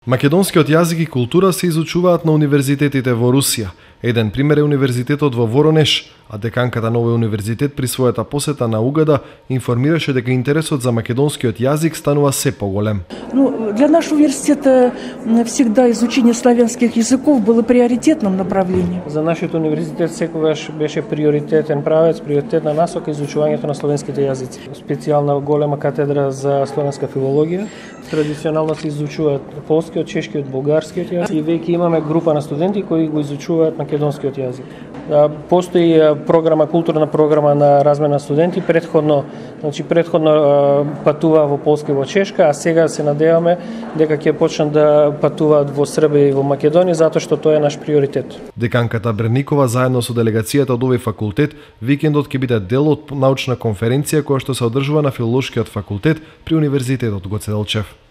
Македонскиот јазик и култура се изучуваат на универзитетите во Русија. Еден пример е универзитетот во Воронеж, а деканката на овој универзитет при својата посета на УГД информираше дека интересот за македонскиот јазик станува се поголем. Для нашего университета всегда изучение славянских языков было приоритетным направлением. За нашиот универзитет секогаш беше приоритетен правец, приоритетна насока изучувањето на словенските јазици. Специјална голема катедра за словенска филологија. Традиционално се изучуваат полскиот, чешкиот, бугарскиот јазик и веќе имаме група на студенти кои го изучуваат македонскиот јазик. Постои програма, културна програма на размена студенти, предходно патува во Полска и во Чешка, а сега се надеваме дека ќе почнат да патуваат во Србија и во Македонија, затоа што тоа е наш приоритет. Деканката Брникова заедно со делегацијата од овој факултет викендот ќе биде дел од научна конференција која што се одржува на Филолошкиот факултет при Универзитетот Гоце Делчев.